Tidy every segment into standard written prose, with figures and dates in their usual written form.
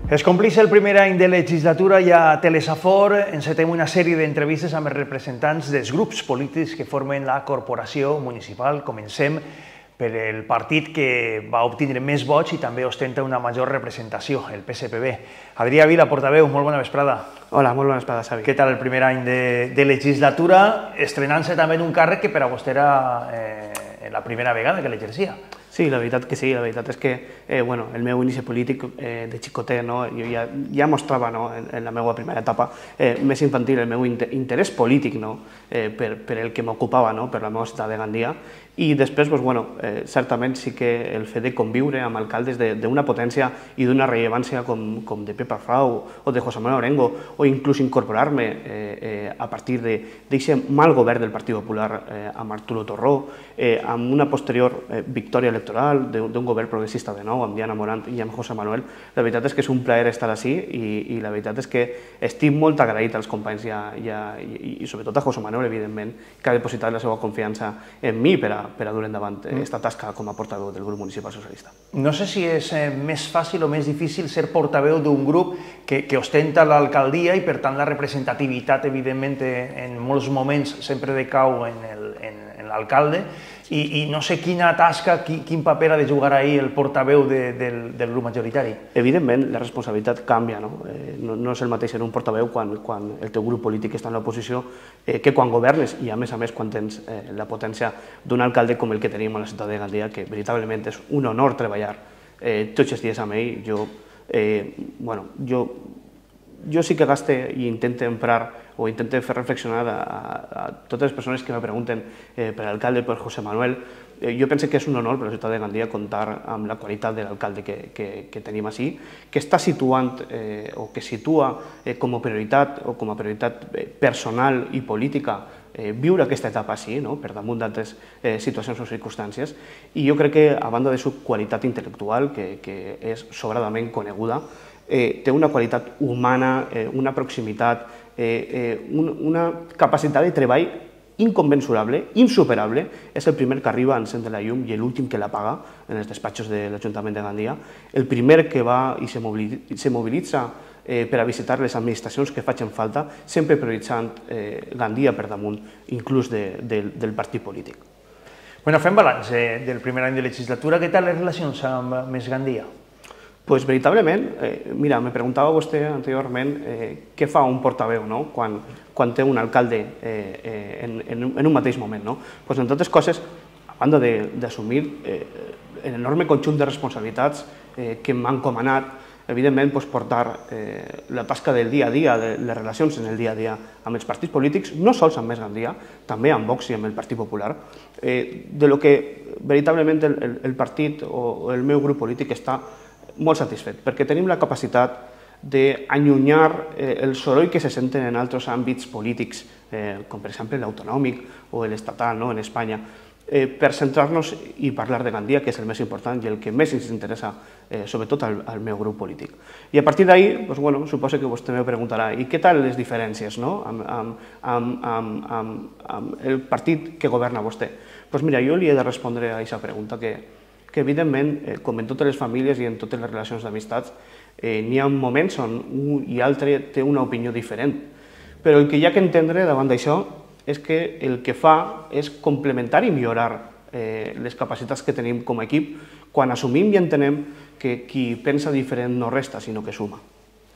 Es compleix el primer any de legislatura i a Telesafor encetem una sèrie d'entrevistes amb els representants dels grups polítics que formen la corporació municipal. Comencem per el partit que va obtindre més vots i també ostenta una major representació, el PSPB. Adrià Vila, portaveu, molt bona vesprada. Hola, molt bona vesprada, Xavi. Què tal el primer any de legislatura, estrenant-se també en un càrrec que per a vostè era la primera vegada que l'exercia? Sí, la veritat que sí, la veritat és que el meu inici polític de xicotet, jo ja mostrava en la meva primera etapa més infantil el meu interès polític per el que m'ocupava, per la meva ciutat de Gandia, i després, certament sí que el fet de conviure amb alcaldes d'una potència i d'una rellevància com de Pepa Frau o de José Manuel Orengo, o inclús incorporar-me a partir d'aquest mal govern del Partit Popular amb Arturo Torró, amb una posterior victòria electoral d'un govern progressista de nou, amb Diana Morant i amb José Manuel, la veritat és que és un plaer estar així i la veritat és que estic molt agraït als companys i sobretot a José Manuel, evidentment, que ha depositat la seva confiança en mi per a dur endavant aquesta tasca com a portaveu del grup municipal socialista. No sé si és més fàcil o més difícil ser portaveu d'un grup que ostenta l'alcaldia i, per tant, la representativitat, evidentment, en molts moments sempre decau en l'alcalde, i no sé quina tasca, quin paper ha de jugar ahir el portaveu del grup majoritari. Evidentment, la responsabilitat canvia. No és el mateix ser un portaveu quan el teu grup polític està en l'oposició que quan governes i, a més, quan tens la potència d'un alcalde com el que tenim a la ciutat de Gandia, que veritablement és un honor treballar tots els dies amb ell. Jo sí que gaste i intento emprar o intento fer reflexionar a totes les persones que me pregunten per l'alcalde, per José Manuel. Jo penso que és un honor per a la ciutat de Gandia comptar amb la qualitat de l'alcalde que tenim així, que està situant o que situa com a prioritat personal i política viure aquesta etapa així, per damunt d'altres situacions o circumstàncies, i jo crec que, a banda de su qualitat intel·lectual, que és sobradament coneguda, té una qualitat humana, una proximitat, una capacitat de treball inconmensurable, insuperable. És el primer que arriba a encendre la llum i l'últim que l'apaga en els despatxos de l'Ajuntament de Gandia, el primer que va i se mobilitza per a visitar les administracions que facin falta, sempre prioritzant Gandia per damunt, inclús del partit polític. Fem balanç del primer any de legislatura. Què tal les relacions amb Més Gandia? Doncs veritablement, mira, me preguntava vostè anteriorment què fa un portaveu quan té un alcalde en un mateix moment. Doncs, entre altres coses, a banda d'assumir l'enorme conjunt de responsabilitats que m'han encomanat, evidentment, portar la tasca del dia a dia, de les relacions en el dia a dia amb els partits polítics, no sols amb Més Gandia, també amb Vox i amb el Partit Popular, de lo que veritablement el partit o el meu grup polític està molt satisfet, perquè tenim la capacitat d'allunyar el soroll que se senten en altres àmbits polítics, com per exemple l'autonòmic o l'estatal en Espanya, per centrar-nos i parlar de Gandia, que és el més important i el que més ens interessa, sobretot al meu grup polític. I a partir d'ahir, suposo que vostè me preguntarà, i què tal les diferències amb el partit que governa vostè? Doncs mira, jo li he de respondre a aquesta pregunta que evidentment, com en totes les famílies i en totes les relacions d'amistats, n'hi ha moments on un i altre té una opinió diferent. Però el que hi ha que entendre davant d'això és que el que fa és complementar i millorar les capacitats que tenim com a equip quan assumim i entenem que qui pensa diferent no resta, sinó que suma.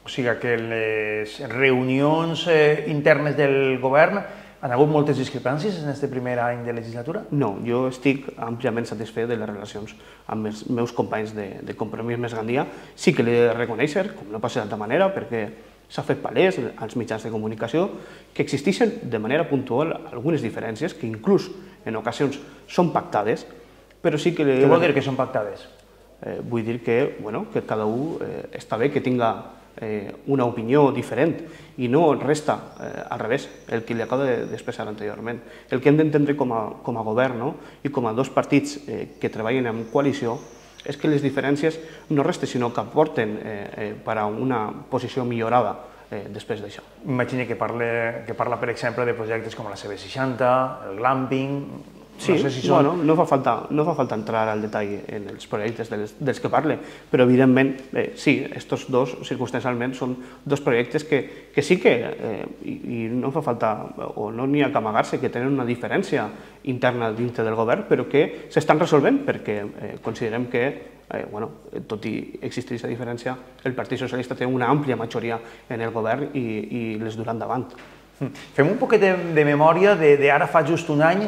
O sigui que les reunions internes del govern han hagut moltes discrepàncies en aquest primer any de legislatura? No, jo estic àmpliament satisfet de les relacions amb els meus companys de Compromís Més Gandia. Sí que l'he de reconèixer, com no passa d'altra manera, perquè s'ha fet palès als mitjans de comunicació que existeixen de manera puntual algunes diferències que inclús en ocasions són pactades, però sí que... Què vol dir que són pactades? Vull dir que cada un està bé que tinga una opinió diferent i no resta al revés, el que li acabo d'expressar anteriorment. El que hem d'entendre com a govern i com a dos partits que treballen en coalició és que les diferències no resten, sinó que aporten per a una posició millorada després d'això. Imagina que parla, per exemple, de projectes com la CB60, el glamping, Sí, bueno, no fa falta entrar al detall en els projectes dels que parle, però evidentment, sí, estos dos, circumstancialment, són dos projectes que sí que, i no fa falta, o no n'hi ha que amagar-se, que tenen una diferència interna dintre del govern, però que s'estan resolvent, perquè considerem que, tot i existir aquesta diferència, el Partit Socialista té una àmplia majoria en el govern i les durà endavant. Fem un poquet de memòria d'ara fa just un any.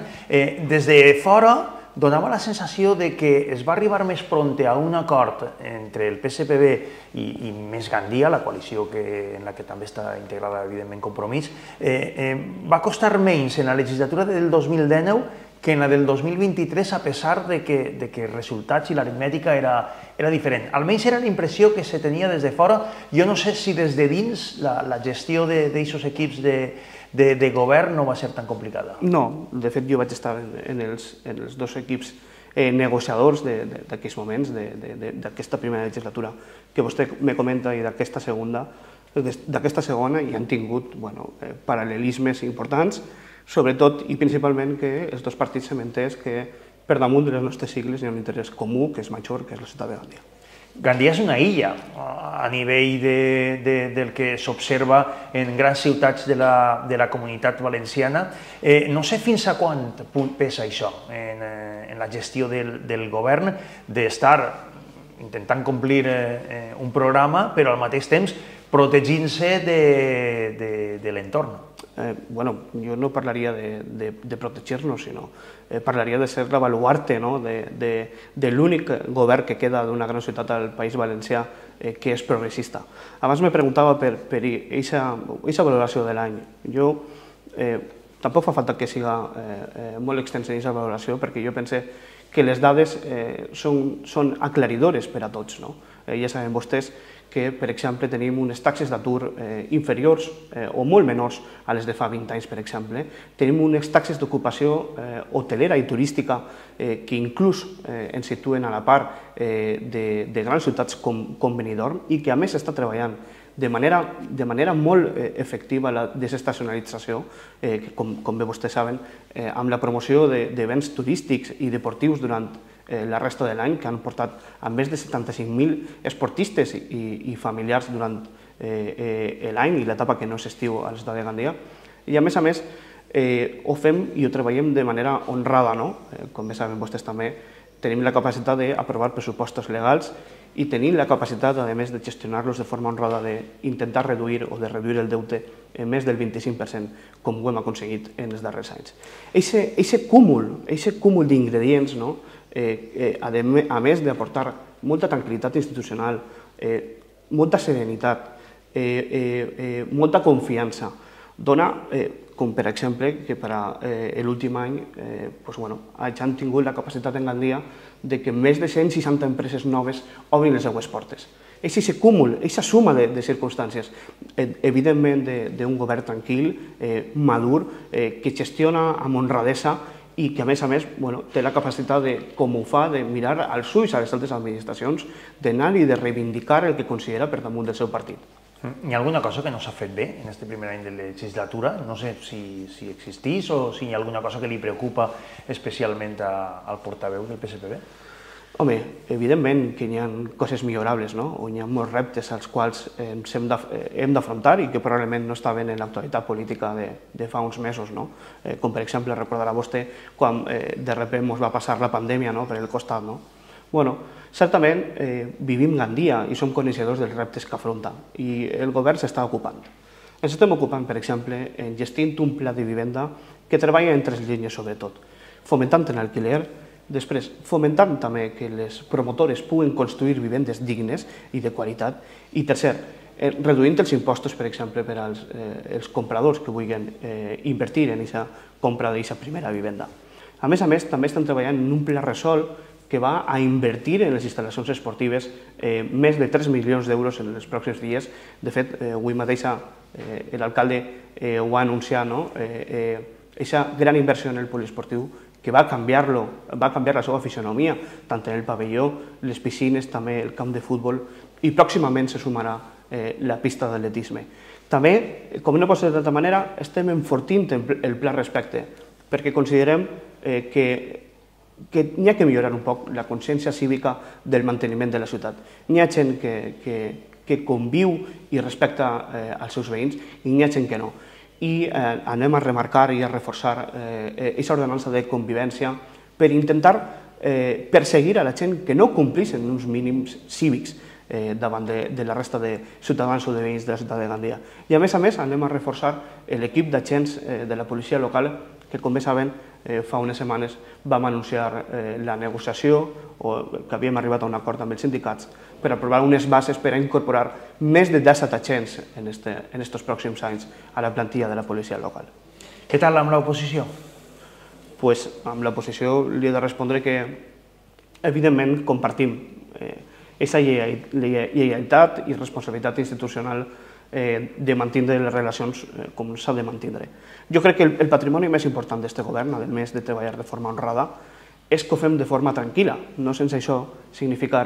Des de fora donava la sensació de que es va arribar més pront a un acord entre el PSPB i Més Gandia, la coalició en la que també està integrada, evidentment, Compromís. Va costar menys en la legislatura del 2019 que en la del 2023, a pesar de que els resultats i l'aritmètica era diferent. Almenys era la impressió que se tenia des de fora. Jo no sé si des de dins la gestió d'aquests equips de govern no va ser tan complicada. No, de fet jo vaig estar en els dos equips negociadors d'aquests moments, d'aquesta primera legislatura que vostè me comenta i d'aquesta segona, i han tingut paral·lelismes importants, sobretot i principalment que els dos partits s'han entès que per damunt de les nostres sigles hi ha un interès comú que és major, que és la ciutat de Gandia. Gandia és una illa a nivell del que s'observa en grans ciutats de la comunitat valenciana. No sé fins a quant pesa això en la gestió del govern d'estar intentant complir un programa però al mateix temps protegint-se de l'entorn. Jo no parlaria de protegir-nos, sinó parlaria de ser la baluarte de l'únic govern que queda d'una gran ciutat al País Valencià que és progressista. Abans me preguntava per aquesta valoració de l'any. Tampoc fa falta que siga molt extensa aquesta valoració, perquè jo pense que les dades són aclaridores per a tots. Ja saben vostès que, per exemple, tenim unes taxes d'atur inferiors o molt menors a les de fa 20 anys, per exemple. Tenim unes taxes d'ocupació hotelera i turística que inclús ens situen a la part de grans ciutats com Benidorm i que, a més, s'està treballant de manera molt efectiva la desestacionalització, com bé vostès saben, amb la promoció de béns turístics i deportius durant la resta de l'any, que han portat a més de 75.000 esportistes i familiars durant l'any i l'etapa que no és estiu a la ciutat de Gandia. I a més, ho fem i ho treballem de manera honrada. Com bé saben vostès també, tenim la capacitat d'aprovar pressupostos legals i tenim la capacitat, a més, de gestionar-los de forma honrada, d'intentar reduir el deute en més del 25%, com ho hem aconseguit en els darrers anys. Aquest cúmul d'ingredients, a més d'aportar molta tranquil·litat institucional, molta serenitat, molta confiança, dona, com per exemple, que per a l'últim any han tingut la capacitat en Gandia que més de 160 empreses noves obrin les seues portes. És aquest cúmul, aquesta suma de circumstàncies, evidentment d'un govern tranquil, madur, que gestiona amb honradesa i que, a més, té la capacitat, com ho fa, de mirar als ulls a les altres administracions, d'anar i de reivindicar el que considera per damunt del seu partit. Hi ha alguna cosa que no s'ha fet bé en aquest primer any de legislatura? No sé si existís o si hi ha alguna cosa que li preocupa especialment al portaveu del PSPB? Home, evidentment que hi ha coses millorables, on hi ha molts reptes als quals hem d'afrontar i que probablement no estaven en l'actualitat política de fa uns mesos, com per exemple recordarà vostè quan de sobte ens va passar la pandèmia per el costat. Certament vivim Gandia i som coneixedors dels reptes que afronta i el govern s'està ocupant. Ens estem ocupant, per exemple, en gestir un pla de vivenda que treballa en 3 línies sobretot, fomentant l'alquiler, després fomentant també que les promotores puguen construir vivendes dignes i de qualitat i tercer, reduint els impostos, per exemple, per als compradors que vulguin invertir en aquesta compra d'aquesta primera vivenda. A més, també estan treballant en un pla Resol que va a invertir en les instal·lacions esportives més de 3 milions d'euros en els pròxims dies. De fet, avui mateix l'alcalde ho va anunciar, aquesta gran inversió en el poliesportiu que va canviar la seva fisionomia, tant en el pavelló, les piscines, també el camp de futbol, i pròximament se sumarà la pista d'atletisme. També, com no pot ser d'altra manera, estem enfortint el pla Respecte, perquè considerem que n'hi ha que millorar un poc la consciència cívica del manteniment de la ciutat. N'hi ha gent que conviu i respecta els seus veïns i n'hi ha gent que no. I anem a remarcar i a reforçar aquesta ordenança de convivència per intentar perseguir a la gent que no compleixen uns mínims cívics davant de la resta de ciutadans o de veïns de la ciutat de Gandia. I a més, anem a reforçar l'equip d'agents de la policia local que, com bé saben, fa unes setmanes vam anunciar la negociació o que havíem arribat a un acord amb els sindicats per aprovar unes bases per a incorporar més de 17 agents en aquests pròxims anys a la plantilla de la policia local. Què tal amb l'oposició? Pues, amb l'oposició li he de respondre que, evidentment, compartim aquesta lleialtat i responsabilitat institucional de mantenir les relacions com s'ha de mantenir. Jo crec que el patrimoni més important d'aquest govern, a més de treballar de forma honrada, és que ho fem de forma tranquil·la, no sense això significar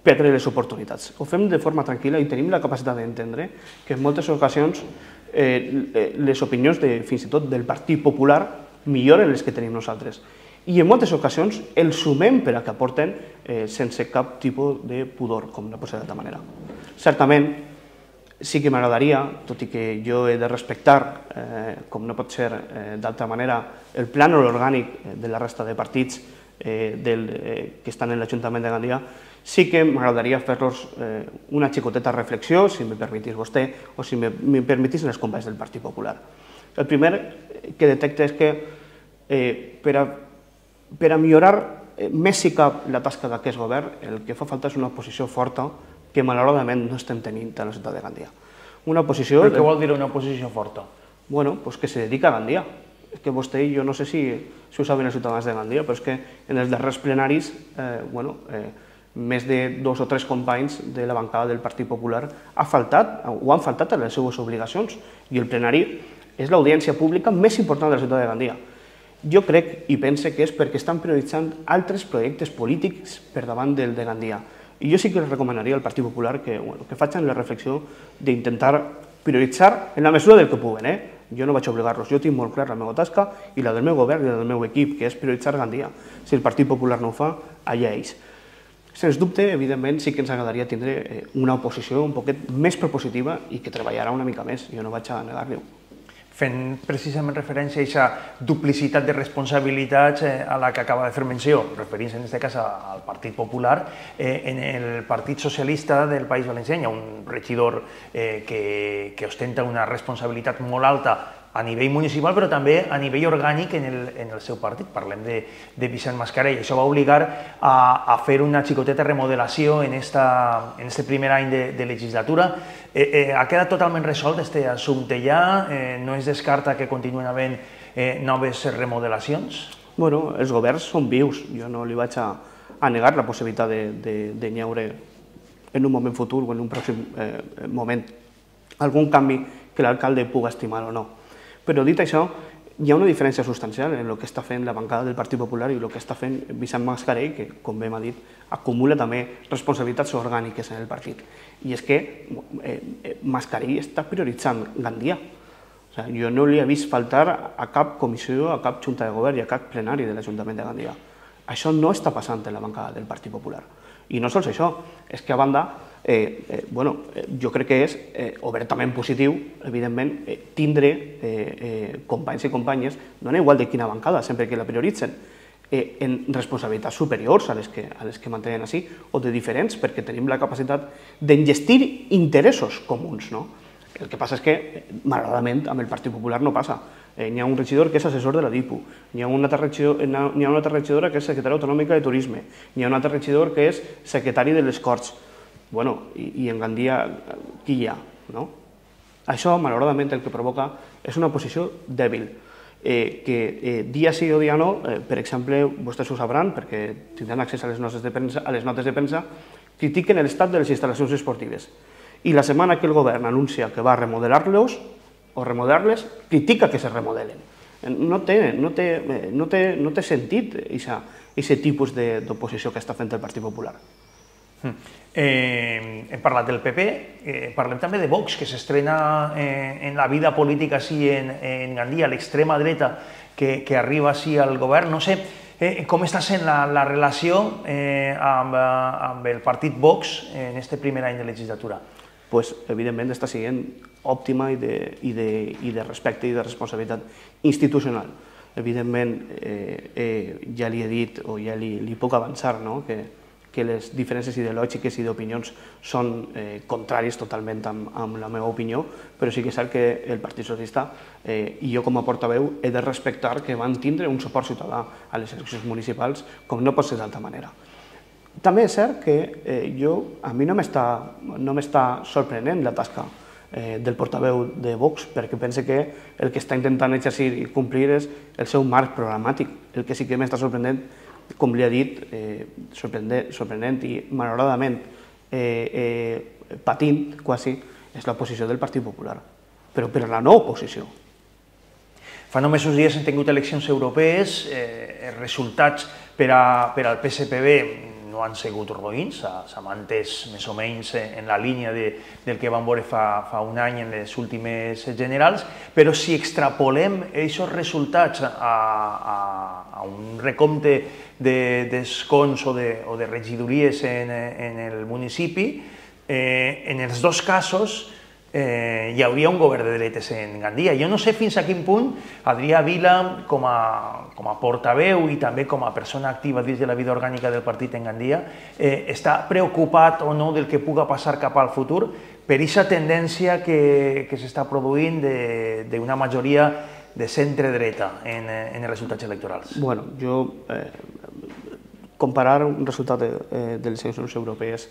perdre les oportunitats. Ho fem de forma tranquil·la i tenim la capacitat d'entendre que en moltes ocasions les opinions fins i tot del Partit Popular milloren les que tenim nosaltres. I en moltes ocasions els sumem per a que aporten sense cap tipus de pudor, com no pot ser d'altra manera. Certament, sí que m'agradaria, tot i que jo he de respectar, com no pot ser d'altra manera, el plànol orgànic de la resta de partits que estan en l'Ajuntament de Gandia, sí que m'agradaria fer-los una xicoteta reflexió, si me permetís vostè, o si me permetís els companys del Partit Popular. El primer que detecte és que per a millorar més si cap la tasca d'aquest govern, el que fa falta és una oposició forta que malauradament no estem tenint a la ciutat de Gandia. Una oposició... Però què vol dir una oposició forta? Bueno, pues que se dedica a Gandia. És que vostè, jo no sé si ho saben els ciutadans de Gandia, però és que en els darrers plenaris, més de 2 o 3 companys de la bancada del Partit Popular han faltat a les seues obligacions i el plenari és l'audiència pública més important de la ciutat de Gandia. Jo crec i pense que és perquè estan prioritzant altres projectes polítics per davant del de Gandia. I jo sí que els recomanaria al Partit Popular que facin la reflexió d'intentar prioritzar en la mesura del que puguen. Jo no vaig obligar-los, jo tinc molt clar la meva tasca i la del meu govern i la del meu equip, que és prioritzar Gandia. Si el Partit Popular no ho fa, allà ells. Sens dubte, evidentment, sí que ens agradaria tindre una oposició un poquet més propositiva i que treballarà una mica més, jo no vaig a negar-li-ho. Fent precisament referència a aquesta duplicitat de responsabilitats a la que acaba de fer menció, referint-se en aquest cas al Partit Popular, en el Partit Socialista del País Valencià hi ha un regidor que ostenta una responsabilitat molt alta a nivell municipal, però també a nivell orgànic en el seu partit. Parlem de Vicent Mascarell. Això va obligar a fer una xicoteta remodelació en aquest primer any de legislatura. Ha quedat totalment resolt aquest assumpte ja? No es descarta que continuen havent noves remodelacions? Bueno, els governs són vius. Jo no li vaig a negar la possibilitat de n'hi haure en un moment futur o en un pròxim moment algun canvi que l'alcalde pugui estimar o no. Però dit això, hi ha una diferència substancial en el que està fent la bancada del Partit Popular i el que està fent Vicent Mascarell, que, com bé m'ha dit, acumula també responsabilitats orgàniques en el partit. I és que Mascarell està prioritzant Gandia. Jo no li he vist faltar a cap comissió, a cap junta de govern i a cap plenari de l'Ajuntament de Gandia. Això no està passant en la bancada del Partit Popular. I no sols això, és que a banda, jo crec que és obertament positiu, evidentment, tindre companys i companyes, dona igual de quina bancada, sempre que la prioritzen, en responsabilitats superiors a les que mantenen així, o de diferents, perquè tenim la capacitat d'engestir interessos comuns. El que passa és que, malauradament, amb el Partit Popular no passa. N'hi ha un regidor que és assessor de la DIPU, n'hi ha una altra regidora que és secretària autonòmica de turisme, n'hi ha un altre regidor que és secretari de les Corts. I en Gandia, qui hi ha? Això, malauradament, el que provoca és una posició dèbil, que dia sí o dia no, per exemple, vostès ho sabran, perquè tindran accés a les notes de premsa, critiquen l'estat de les instal·lacions esportives. I la setmana que el govern anuncia que va remodelar-los, o remodelar-les, critica que se remodelen. No té sentit aquest tipus d'oposició que està fent el Partit Popular. Hem parlat del PP, parlem també de Vox, que s'estrena en la vida política així en Gandia, l'extrema dreta que arriba així al govern. No sé com està sent la relació amb el partit Vox en aquest primer any de legislatura. Pues, evidentment, està sent òptima i de respecte i de responsabilitat institucional. Evidentment, ja li he dit, o ja li puc avançar, que les diferències ideològiques i d'opinions són contràries totalment amb la meva opinió, però sí que és cert que el Partit Socialista i jo com a portaveu he de respectar que van tindre un suport ciutadà a les eleccions municipals, com no pot ser d'altra manera. També és cert que a mi no m'està sorprenent la tasca del portaveu de Vox, perquè pense que el que està intentant exercir i complir és el seu marc programàtic. El que sí que m'està sorprenent, com li he dit, sorprenent i malauradament patint quasi, és la posició del Partit Popular, però per la no oposició. Fa només uns dies hem tingut eleccions europees, els resultats per al PSPB no han sigut roïns, s'ha mantès més o menys en la línia del que vam veure fa un any en les últimes generals, però si extrapolem aquests resultats a un recompte d'escons o de regidories en el municipi, en els dos casos hi hauria un govern de dretes en Gandia. Jo no sé fins a quin punt Adrià Vila, com a portaveu i també com a persona activa dins de la vida orgànica del partit en Gandia, està preocupat o no del que puga passar cap al futur per aquesta tendència que s'està produint d'una majoria de centre-dreta en els resultats electorals. Bueno, jo comparar un resultat de les eleccions europees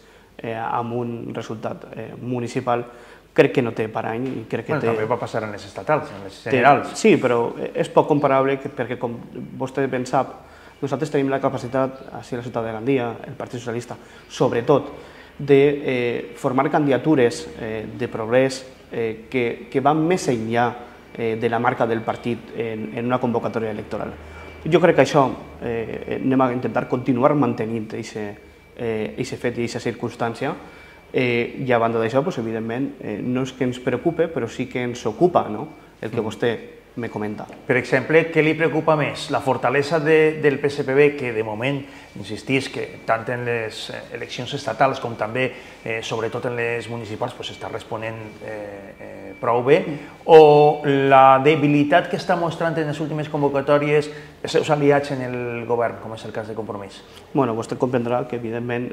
amb un resultat municipal crec que no té parany i crec que té... També va passar en les estatals, en les generals. Sí, però és poc comparable perquè, com vostè ben sap, nosaltres tenim la capacitat, així a la ciutat de Gandia, el Partit Socialista, sobretot, de formar candidatures de progrés que van més enllà de la marca del partit en una convocatòria electoral. Jo crec que això anem a intentar continuar mantenint aquest fet i aquesta circumstància. I a banda d'això, evidentment, no és que ens preocupe, però sí que ens ocupa el que vostè me comenta. Per exemple, què li preocupa més? La fortalesa del PSPB, que de moment, insistís, que tant en les eleccions estatals com també, sobretot en les municipals, està responent prou bé, o la debilitat que està mostrant en les últimes convocatòries els seus aliats en el govern, com és el cas de Compromís? Bueno, vostè comprendrà que, evidentment,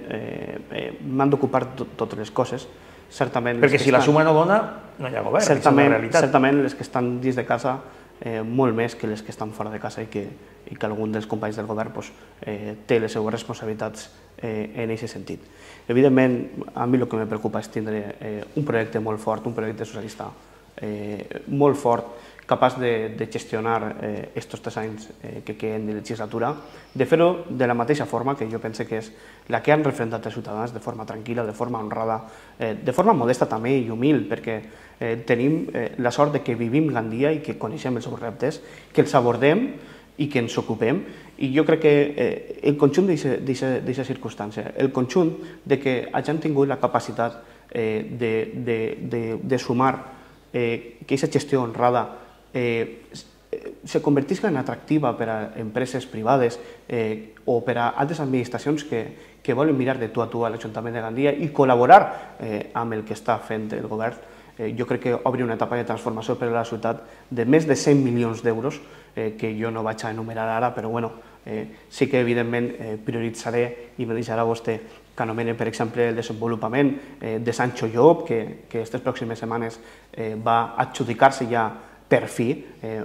m'han d'ocupar totes les coses. Perquè si la suma no dona, no hi ha govern, és una realitat. Certament les que estan dins de casa, molt més que les que estan fora de casa i que algun dels companys del govern té les seues responsabilitats en aquest sentit. Evidentment, a mi el que me preocupa és tindre un projecte molt fort, un projecte socialista molt fort, capaç de gestionar aquests 3 anys que queden de legislatura, de fer-ho de la mateixa forma que jo pense que és la que han referendat els ciutadans, de forma tranquil·la, de forma honrada, de forma modesta també i humil, perquè tenim la sort de que vivim Gandia i que coneixem els seus reptes, que els abordem i que ens ocupem, i jo crec que el conjunt d'aquesta circumstància, el conjunt de que hagin tingut la capacitat de sumar que aquesta gestió honrada se convertisca en atractiva per a empreses privades o per a altres administracions que volen mirar de tu a tu a l'Ajuntament de Gandia i col·laborar amb el que està fent el govern. Jo crec que obri una etapa de transformació per a la ciutat de més de 100 milions d'euros, que jo no vaig a enumerar ara, però sí que evidentment prioritzaré i me deixarà vostè que anomene, per exemple, el desenvolupament de Sancho Llop, que aquestes pròximes setmanes va adjudicar-se ja per fi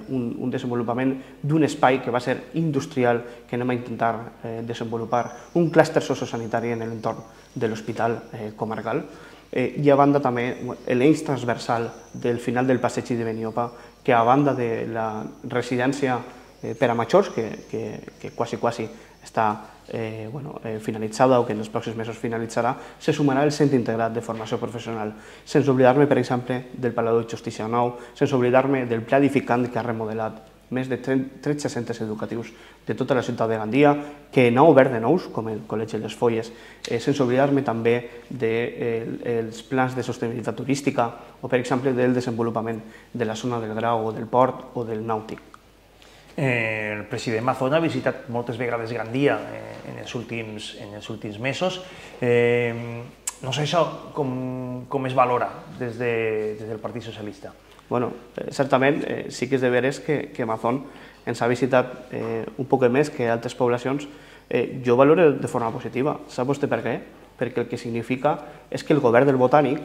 un desenvolupament d'un espai que va ser industrial que anem a intentar desenvolupar, un clúster sociosanitari en l'entorn de l'hospital comarcal, i a banda també l'eix transversal del final del passeig de Beniopa, que a banda de la residència per a majors, que quasi està finalitzada o que en els pròxims mesos finalitzarà, se sumarà el centre integrat de formació professional, sense oblidar-me, per exemple, del Palau de Justícia Nou, sense oblidar-me del pla edificant que ha remodelat més de 13 centres educatius de tota la ciutat de Gandia, que n'ha obert de nous, com el Col·legi Les Folles, sense oblidar-me també dels plans de sostenibilitat turística o, per exemple, del desenvolupament de la zona del Grau o del Port o del Nàutic. El president Mazón ha visitat moltes vegades Gandia en els últims mesos. No sé això com es valora des del Partit Socialista. Bueno, certament sí que és de veres que Mazón ens ha visitat un poc més que altres poblacions. Jo valoro de forma positiva. Sap vostè per què? Perquè el que significa és que el govern del Botànic,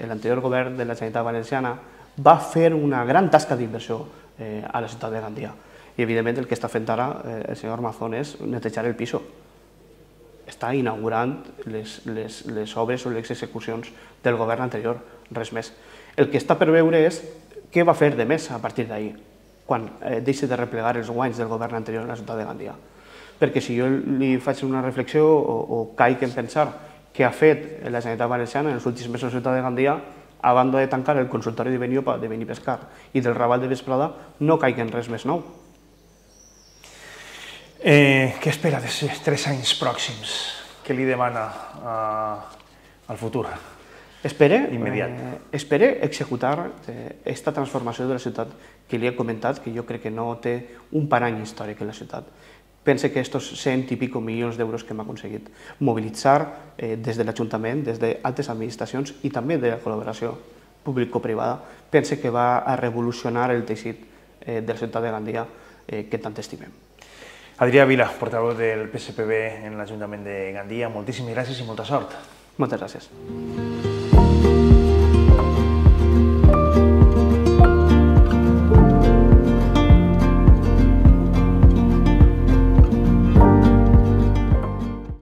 l'anterior govern de la Generalitat Valenciana, va fer una gran tasca d'inversió a la ciutat de Gandia. I, evidentment, el que està fent ara el senyor Mazón és netejar el piso. Està inaugurant les obres o les execucions del govern anterior, res més. El que està per veure és què va fer de més a partir d'ahir, quan deixi de replegar els guanys del govern anterior a la ciutat de Gandia. Perquè si jo li faig una reflexió o caic en pensar què ha fet la Generalitat Valenciana en els últims mesos a la ciutat de Gandia, a banda de tancar el consultori de Benipescar i del Raval de Vesprada, no caic en res més nou. Què espera d'aquests 3 anys pròxims? Què li demana al futur? Espere executar aquesta transformació de la ciutat que li he comentat, que jo crec que no té un parany històric en la ciutat. Pense que estos 100 i pico milions d'euros que hem aconseguit mobilitzar des de l'Ajuntament, des d'altres administracions i també de la col·laboració público-privada, pense que va a revolucionar el teixit de la ciutat de Gandia que tant estimem. Adrià Vila, portaveu del PSPB en l'Ajuntament de Gandia, moltíssimes gràcies i molta sort. Moltes gràcies.